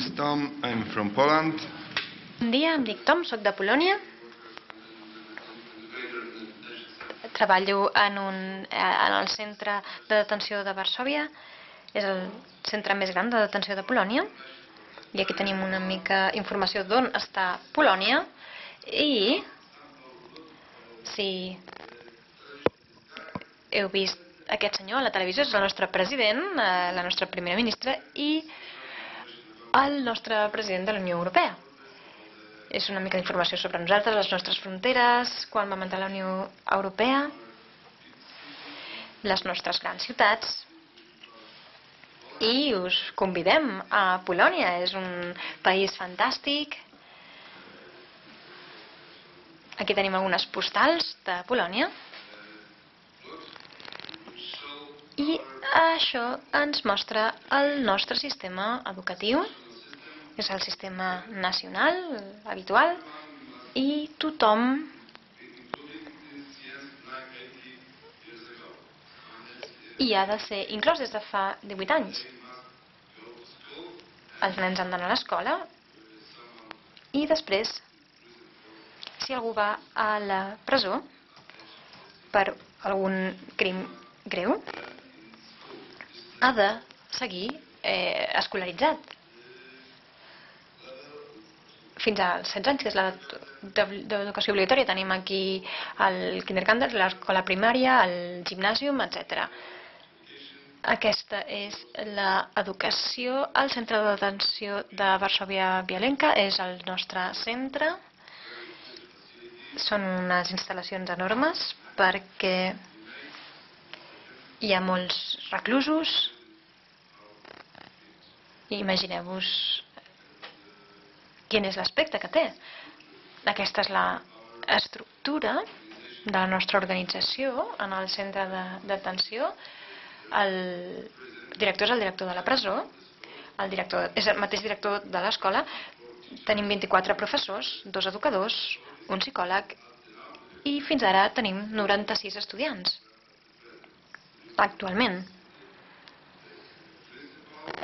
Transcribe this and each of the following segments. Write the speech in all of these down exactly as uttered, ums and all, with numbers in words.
is Tom, I'm from Poland. Bon dia, em dic Tom, soc de Polònia. Treballo en, un, en el centre de detenció de Varsòvia. És el centre més gran de detenció de Polònia. I aquí tenim una mica informació d'on està Polònia. I si heu vist aquest senyor a la televisió, és el nostre president, la nostra primera ministra i el nostre president de la Unió Europea. És una mica d'informació sobre nosaltres, les nostres fronteres, quan vam entrar a la Unió Europea, les nostres grans ciutats. I us convidem a Polònia, és un país fantàstic. Aquí tenim algunes postals de Polònia. I això ens mostra el nostre sistema educatiu. És el sistema nacional, habitual, i tothom hi ha de ser inclòs des de fa divuit anys. Els nens han d'anar a l'escola i després, si algú va a la presó per algun crim greu, ha de seguir eh, escolaritzat. Fins als setze anys, que és l'edat d'educació obligatòria. Tenim aquí el kindergarten, l'escola primària, el gimnàsium, etcètera. Aquesta és l'educació. El centre de detenció de Varsòvia-Bielenka és el nostre centre. Són unes instal·lacions enormes perquè hi ha molts reclusos. Imagineu-vos quin és l'aspecte que té. Aquesta és l'estructura de la nostra organització en el centre de detenció. El director és el director de la presó, el director és el mateix director de l'escola. Tenim vint-i-quatre professors, dos educadors, un psicòleg i fins ara tenim noranta-sis estudiants. Actualment.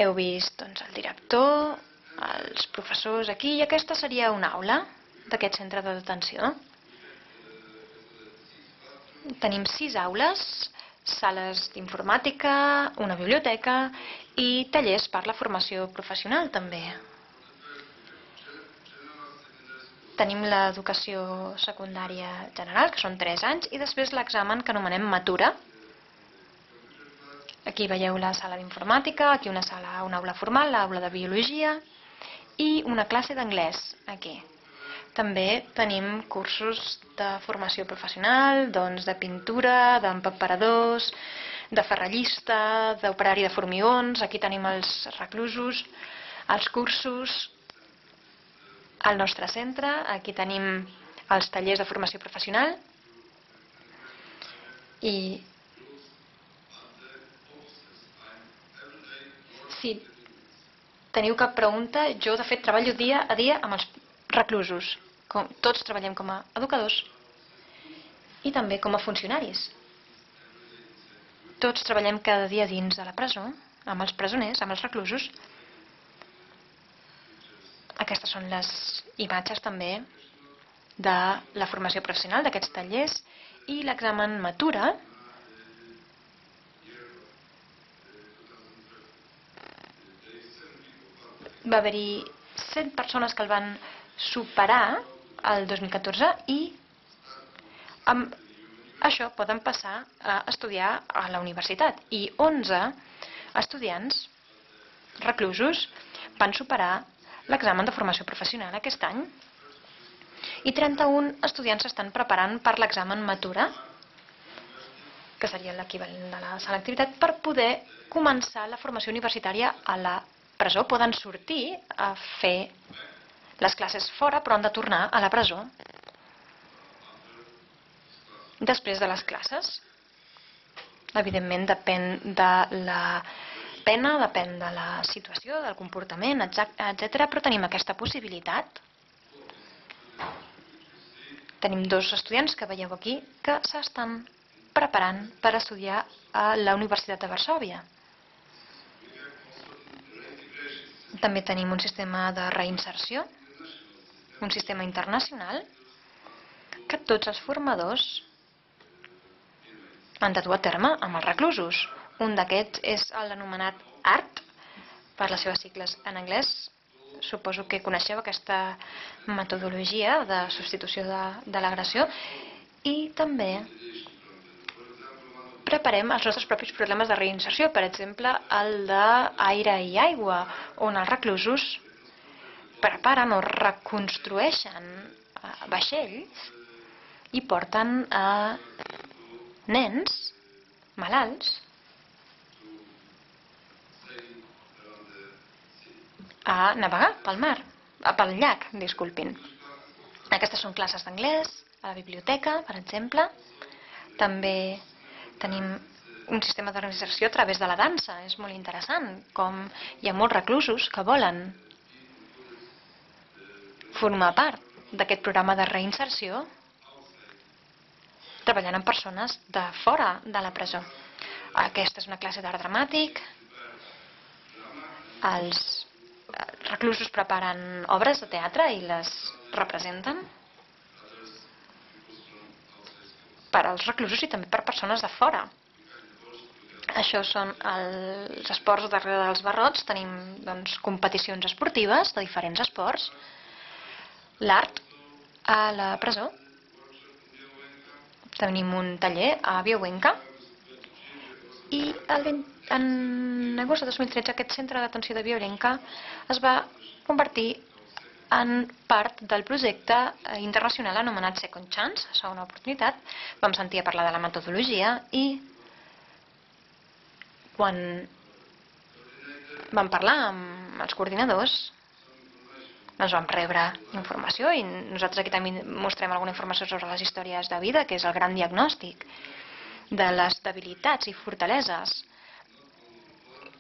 Heu vist doncs, el director, els professors aquí, i aquesta seria una aula d'aquest centre de detenció. Tenim sis aules, sales d'informàtica, una biblioteca i tallers per la formació professional també. Tenim l'educació secundària general, que són tres anys, i després l'examen que anomenem Matura. Aquí veieu la sala d'informàtica, aquí una sala, una aula formal, l'aula de biologia, i una classe d'anglès aquí. També tenim cursos de formació professional, doncs de pintura, d'empaperadors, de ferrallista, d'operari de formigons. Aquí tenim els reclusos, els cursos, al nostre centre. Aquí tenim els tallers de formació professional. I si teniu cap pregunta, jo de fet treballo dia a dia amb els reclusos. Com, tots treballem com a educadors i també com a funcionaris. Tots treballem cada dia dins de la presó, amb els presoners, amb els reclusos. Aquestes són les imatges també de la formació professional d'aquests tallers i l'examen Matura. Va haver-hi cent persones que el van superar el dos mil catorze i amb això poden passar a estudiar a la universitat. I onze estudiants reclusos van superar l'examen de formació professional aquest any i trenta-un estudiants s'estan preparant per l'examen Matura, que seria l'equivalent de la selectivitat, per poder començar la formació universitària a la presó. Poden sortir a fer les classes fora, però han de tornar a la presó després de les classes. Evidentment depèn de la pena, depèn de la situació, del comportament, etcètera, però tenim aquesta possibilitat. Tenim dos estudiants que veieu aquí que s'estan preparant per estudiar a la Universitat de Varsòvia. També tenim un sistema de reinserció, un sistema internacional, que tots els formadors han de dur a terme amb els reclusos. Un d'aquests és l'anomenat A R T, per les seves sigles en anglès. Suposo que coneixeu aquesta metodologia de substitució de, de l'agressió. I també preparem els nostres propis programes de reinserció, per exemple, el d'Aire i Aigua, on els reclusos preparen o reconstrueixen vaixells i porten a nens malalts a navegar pel mar, pel llac, disculpin. Aquestes són classes d'anglès, a la biblioteca, per exemple. També tenim un sistema de reinserció a través de la dansa. És molt interessant, com hi ha molts reclusos que volen formar part d'aquest programa de reinserció treballant amb persones de fora de la presó. Aquesta és una classe d'art dramàtic. Els reclusos preparen obres de teatre i les representen per als reclusos i també per persones de fora. Això són els esports darrere dels barrots. Tenim doncs, competicions esportives de diferents esports. L'art a la presó. Tenim un taller a Biauenca. I el vint, en agost de dos mil tretze aquest centre d'atenció de Biauenca es va convertir en part del projecte internacional anomenat Second Chance, segona oportunitat. Vam sentir a parlar de la metodologia i quan vam parlar amb els coordinadors ens vam rebre informació i nosaltres aquí també mostrem alguna informació sobre les històries de vida, que és el gran diagnòstic de les debilitats i fortaleses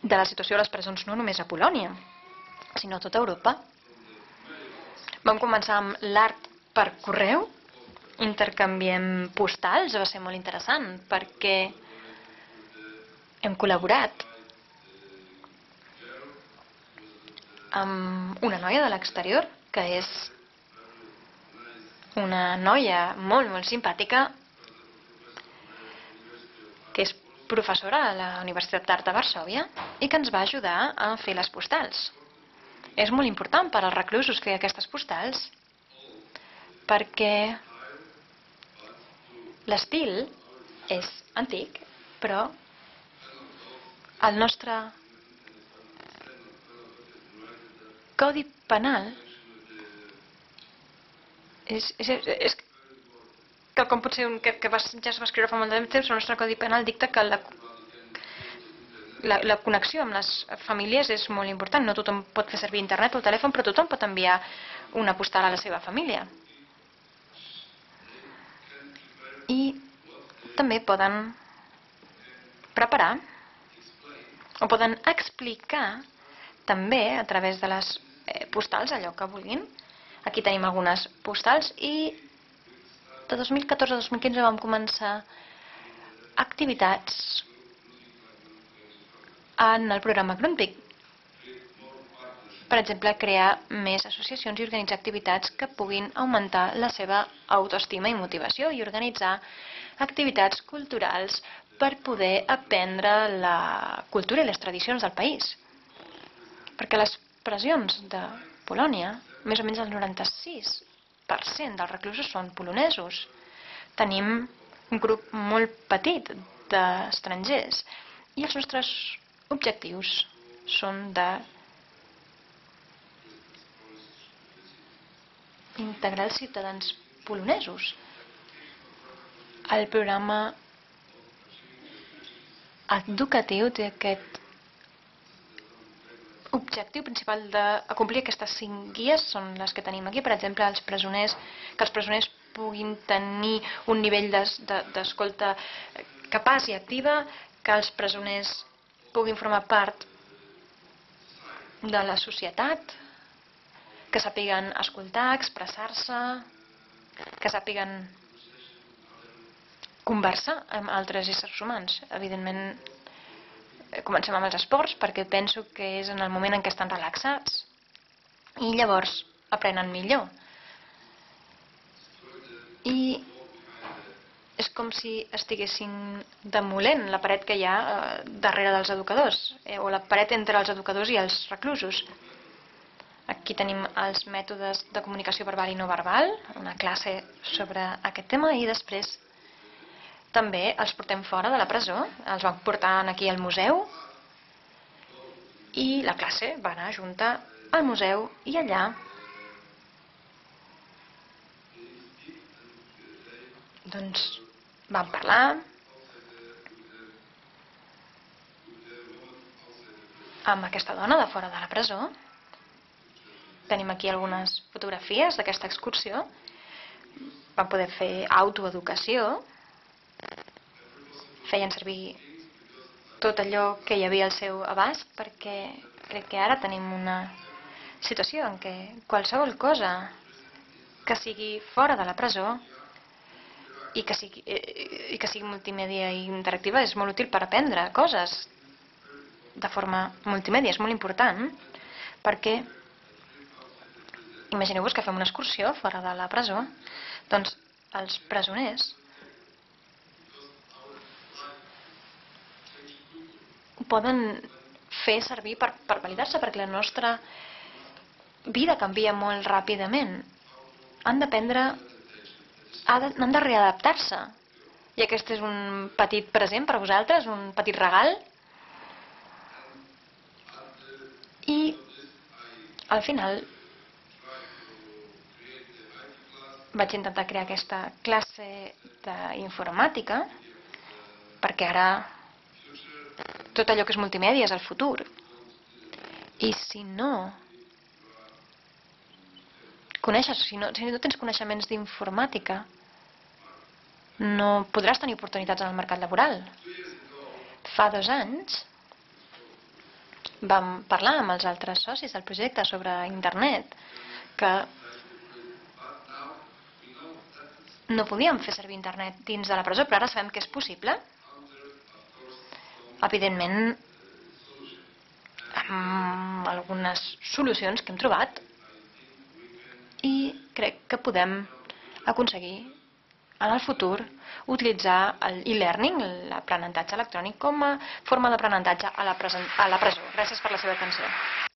de la situació a les presons no només a Polònia, sinó a tota Europa. Vam començar amb l'art per correu, intercanviem postals, va ser molt interessant perquè hem col·laborat amb una noia de l'exterior, que és una noia molt, molt simpàtica, que és professora a la Universitat d'Art de Varsòvia i que ens va ajudar a fer les postals. És molt important per als reclusos fer aquestes postals perquè l'estil és antic, però el nostre codi penal és, és, és que com pot ser un, que, que va, ja es va escriure fa molt de temps, el nostre codi penal dicta que la, la, la connexió amb les famílies és molt important. No tothom pot fer servir internet o el telèfon, però tothom pot enviar una postal a la seva família. I també poden preparar o poden explicar també a través de les postals allò que vulguin. Aquí tenim algunes postals i de dos mil catorze a dos mil quinze vam començar activitats en el programa Grundtvig. Per exemple, crear més associacions i organitzar activitats que puguin augmentar la seva autoestima i motivació i organitzar activitats culturals per poder aprendre la cultura i les tradicions del país. Perquè les presons de Polònia, més o menys el noranta-sis per cent dels reclusos són polonesos. Tenim un grup molt petit d'estrangers i els nostres objectius són de integrar els ciutadans polonesos. El programa educatiu té aquest objectiu principal d'acomplir aquestes cinc guies, són les que tenim aquí, per exemple, els presoners, que els presoners puguin tenir un nivell d'escolta capaç i activa, que els presoners puguin formar part de la societat, que sàpiguen escoltar, expressar-se, que sàpiguen conversar amb altres éssers humans. Evidentment, comencem amb els esports perquè penso que és en el moment en què estan relaxats i llavors aprenen millor. I és com si estiguessin demolent la paret que hi ha eh, darrere dels educadors, eh, o la paret entre els educadors i els reclusos. Aquí tenim els mètodes de comunicació verbal i no verbal, una classe sobre aquest tema, i després també els portem fora de la presó, els vam portar aquí al museu i la classe va anar junta al museu i allà doncs vam parlar amb aquesta dona de fora de la presó. Tenim aquí algunes fotografies d'aquesta excursió. Vam poder fer autoeducació. Feien servir tot allò que hi havia al seu abast perquè crec que ara tenim una situació en què qualsevol cosa que sigui fora de la presó i que sigui, i que sigui multimèdia i interactiva és molt útil per aprendre coses de forma multimèdia. És molt important perquè imagineu-vos que fem una excursió fora de la presó, doncs els presoners ho poden fer servir per, per validar-se perquè la nostra vida canvia molt ràpidament. Han d'aprendre, han de readaptar-se. I aquest és un petit present per a vosaltres, un petit regal. I al final vaig intentar crear aquesta classe d'informàtica perquè ara tot allò que és multimèdia és el futur. I si no coneixes, si no, si no tens coneixements d'informàtica, no podràs tenir oportunitats en el mercat laboral. Fa dos anys vam parlar amb els altres socis del projecte sobre internet que no podíem fer servir internet dins de la presó, però ara sabem que és possible. Evidentment, amb algunes solucions que hem trobat, i crec que podem aconseguir en el futur utilitzar l'e-learning, l'aprenentatge electrònic, com a forma d'aprenentatge a la presó. Gràcies per la seva atenció.